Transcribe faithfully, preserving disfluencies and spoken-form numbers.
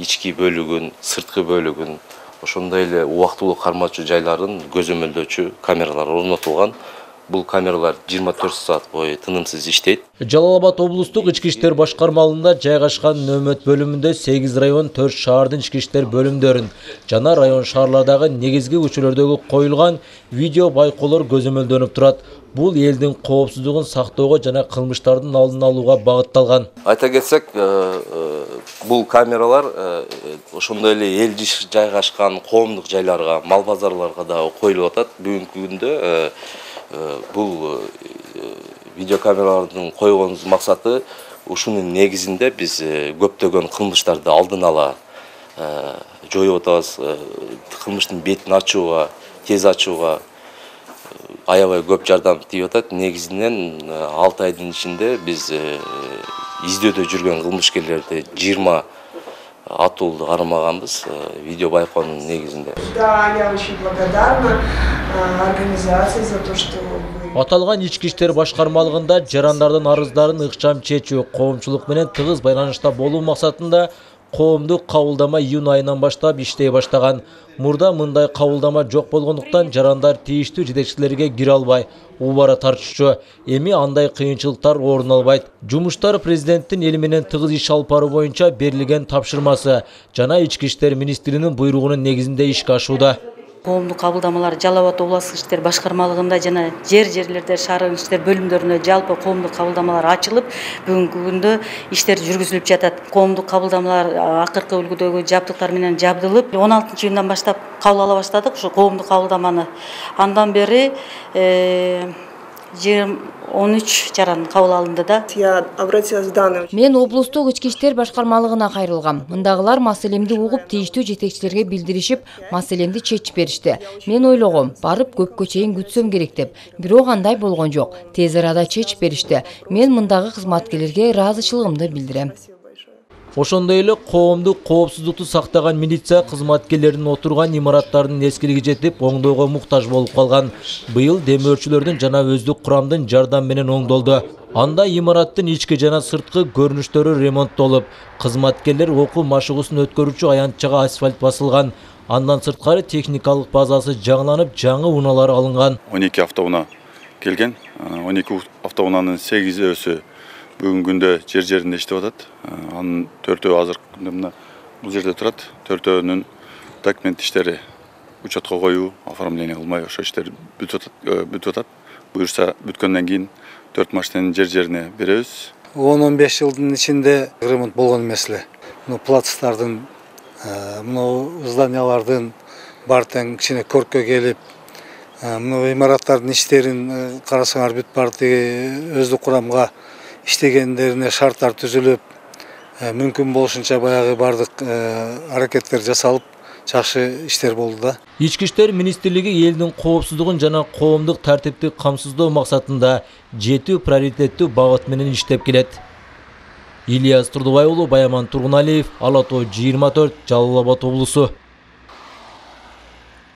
ички бөлүгүн, сырткы бөлүгүн, ошондой эле убактылуу кармоочу жайларын көзөмөлдөөчү камералар орнотулган. Бул камералар жыйырма төрт саат бою тынымсыз иштейт. Жалал Абад облустук ички иштер башкармалыгында жайгашкан нөөмөт бөлүмүндө сегиз район, төрт шаардын ички иштер бөлүмдөрүн жана район шаарлардагы негизги көчөлөрдөгү коюлган видео байкоолор көзөмөлдөнүп турат. Бул элдин коопсуздугун сактоого жана кылмыштардын алдын алууга багытталган. Айта кетсек, бул камералар ошондой эле эл жайгашкан коомдук жайларга, мал базарларга да коюлуп атат. Бүгүнкү күндө бул видеокамералардын койгонубуздун максаты ушунун негизинде биз көптөгөн кылмыштарды алдын ала жоюп атабыз. Кылмыштын бетин ачууга, тез ачууга аябай көп жардам тийип атат. Негизинен алты айдын ичинде биз издөөдө жүргөн кылмышкерлерди жыйырма атуулду кармаганбыз видео байкоонун негизинде. Да, я очень благодарна организации за то, что Аталган ички иштер башкармалыгында жарандардын арыздарын ыкчам чечүү, коомчулук менен тыгыз байланышта болуу максатында коомдук кабылдама июнь айынан баштап иштей баштаган. Мурда мындай кабылдама жок болгондуктан жарандар тийиштүү жетекчилерге кире албай, убара тартышчу. Эми андай кыйынчылыктар орун албайт. Жумуштар президенттин эл менен тыгыз иш алып баруу боюнча берилген тапшырмасы жана ички иштер министринин буйругунун негизинде ишке ашууда. Коомдук кабылдамалар Жалал Абад областык иштер башкармалыгында жана жер-жерлерде шаардын иштер бөлүмдөрүнө жалпы коомдук кабылдамалар ачылып, бүгүнкү күндө иштер жүргүзүлүп жатат. Коомдук кабылдамалар акыркы үлгүдөгү жабдыктар менен жабдылып, он алтынчы июндан баштап кабыл ала баштадык ушу коомдук кабылдаманы. Андан бери он үч жаран кабыл алынды да. Я обратилась в данный. Мен облустук ички иштер башкармалыгына кайрылгам. Мындагылар маселемди угуп, тийиштүү жетекчилерге билдиришип, маселемди чечип беришти. Мен ойлогом, барып көпкө чейин күтсөм керек деп. Бирок андай болгон жок. Тез арада чечип беришти. Мен мындагы кызматкерлерге ыраазычылыгымды билдирем. Ошондой эле коомдук коопсуздукту сактаган милиция кызматкерлеринин отурган имараттардын эскилиги жетип, оңдоого муктаж болуп калган. Быйыл демөөрчүлөрдүн жана өздүк курамдын жардам менен оңдолду. Анда имараттын ички жана сырткы көрүнүштөрү ремонттолуп, кызматкерлер окуу машыгуусун өткөрүүчү аянтчага асфальт басылган. Андан сырткары техникалык базасы жаңыланып, жаңы унаалар алынган. он эки автоунаа келген. он эки автоунаанын сегизөөсү бүгүнкү күндө жер жеринде иштеп атат. Анын төртөө азыркы күндө мына бул жерде турат. Төртөөнүн документ иштери, учетко коюу, оформление кылмай ошо иштер бүтүп атат. Буюрса бүткөндөн кийин төрт машинени жер жерине беребиз. он он беш жылдын ичинде ремонт болгон эмес эле. Мына плацтардын, мына зданиялардын баары тең кичине көрккө келип, мына имараттардын иштерин карасаңар бүт баары тең өздүк курамга иштегендерине шарттар түзүлүп, мүмкүн болушунча баягы бардык аракеттер жасалып, жакшы иштер болду да. Ички иштер министрлиги элдин коопсуздугун жана коомдук тартипти камсыздоо максатында жети приоритеттүү багыт менен иштеп келет. Ильяс Турдубай уулу, Баяман Тургуналиев, Ала Тоо жыйырма төрт, Жалал Абад облусу.